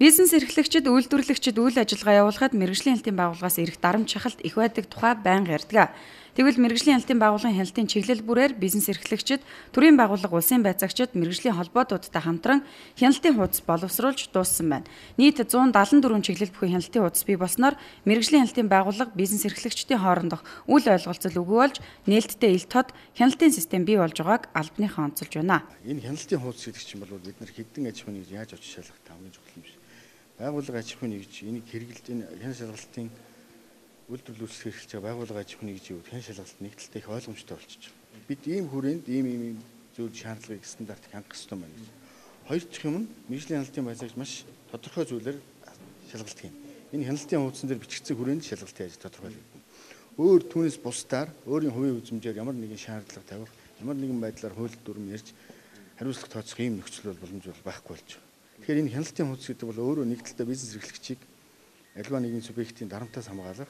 Бизнес эрхлэгчид, үйлдвэрлэгчид үйл ажиллагаа явуулахад мэргэжлийн хяналтын байгууллагаас ирэх дарамт шахалт их байдаг тухай байнга ярьдаг. Тэгвэл мэргэжлийн хяналтын байгууллагын хяналтын чиглэл бүрээр бизнес эрхлэгчид, төрийн байгууллага, улсын байцаагчид, мэргэжлийн холбоотуудтай хамтран хяналтын хуудас боловсруулж дууссан байна. Нийт 174 чиглэл бүхэн хяналтын хуудас бий болсноор мэргэжлийн хяналтын байгууллага бизнес эрхлэгчдийн хоорондох үл ойлголцол үгүй болж нээлттэй ил тод хяналтын систем бий болж байгааг албаныхаа онцолж байна. Энэ хяналтын хуудас гэдэг чинь бол бид нар хэдэн аж ахуйн нэгж яаж очиж шалгах хамгийн чухал юм шиг. Байгууллага аж ахуйн нэгж энийг хэрэгжилж энэ хяналт шалгалтын үйлдвэрлэл үүсгэх хэрэглэж байгаа байгууллага аж ахуйн нэгжийн хувьд хяналт шалгалт нэгдэлтэй их ойлгомжтой болчихж байна. Бид ийм хүрээнд ийм зүйл шаардлагыг стандартыг хангах ёстой байна гэж. Хоёр дахь юм нь мэргэжлийн хяналтын байцаагч маш тодорхой зүйлээр шалгалт хийн. Энэ хяналтын хуудсан дээр бичигдсэн хүрээнд шалгалтын ажил тодорхойлогдно. Өөр түүнээс бусдаар өөрийн хувийн үзмжээр ямар нэгэн шаардлага тавих, ямар нэгэн байдлаар хууль дүрм ярьж хариуцлага тооцох ийм нөхцөл боломж байхгүй болж байна. Тэгэхээр энэ хяналтын хуудас гэдэг бол өөрөө нэгдэлтэй бизнес эрхлэгчийг аливаа нэгэн субъектийн дарамтаас хамгаалах,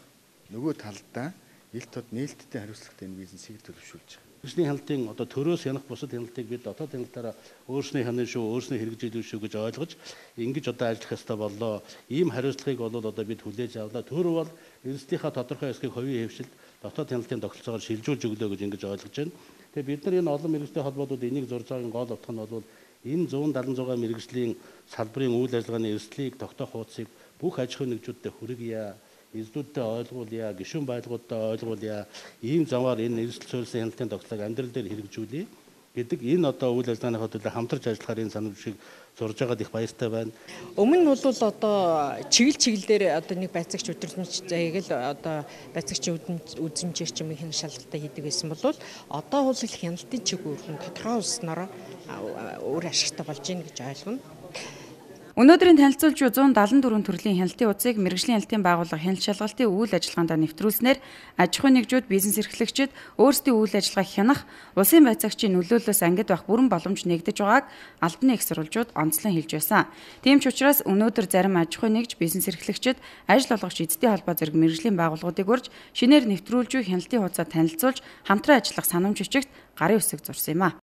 нөгөө талдаа ил тод нээлттэй хариуцлагатай энэ бизнесийг төлөвшүүлж байгаа. Мэргэжлийн хяналтын төрөөс хянах бусад хяналтыг бид дотоод хяналтаараа өөрснөө хянана шүү, өөрснөө хэрэгжүүлнэ шүү гэж ойлгож ингэж ажиллах ёстой боллоо. Ийм хариуцлагыг бол бид хүлээж авлаа. Төр бол эрсдийнхаа тодорхой хэсгийг хувийн хэвшилд дотоод хяналтын тогтолцоогоор шилжүүлж өглөө гэж ингэж ойлгож байна. Тэгээ бид нар энэ олон мэргэжлийн холбоодууд энийг зурж байгаагийн гол утга нь бол энэ 176 мэргэжлийн салбарын үйл ажиллагааны эрсдлийг тогтоох хуудсыг бүх аж ахуйн нэгжүүдтэй хүргье. Эзлүүдтэй ойлгуулъя, гишүүн байгууллагуудтай ойлгуулъя. Ийм замаар энэ эрсдэл суурилсан хяналтын тогтолцоог амьдрал дээр хэрэгжүүлье гэдэг энэ үйл ажиллагааныхаа төлөө хамтарч ажиллахаар энэ санамж шиг зурж байгаад их баяртай байна. Өмнө нь бол чиглэлээр нэг байцаагч өдрөмж заяаг л байцаагчийн үзмжээр ч юм хяналт шалгалтаа хийдэг байсан бол одоо бол хяналтын чиглэл тодорхой улснараа өөр ашигтай болж байна гэж ойлгоно. Өнөөдрийн танилцуулж буй 174 төрлийн хяналтын хуудсыг мэргэжлийн хяналтын байгууллага хяналт шалгалтын үйл ажиллагаанд нэвтрүүлснээр аж ахуйн нэгжүүд, бизнес эрхлэгчид өөрсдийн үйл ажиллагааг хянах, улсын байцаагчийн нөлөөллөөс ангид байх бүрэн боломж нэгдэж байгааг албаны их сурвалжууд онцлон хэлж байсан. Тийм ч учраас өнөөдөр зарим аж ахуйн нэгж, бизнес эрхлэгчид, ажил олгогч эзэдийн холбоо зэрэг мэргэжлийн байгууллагуудыг урьж шинээр нэвтрүүлж буй хяналтын хуудасаа танилцуулж хамтран ажиллах санамж бичигт гарын үсэг зурсан юм а.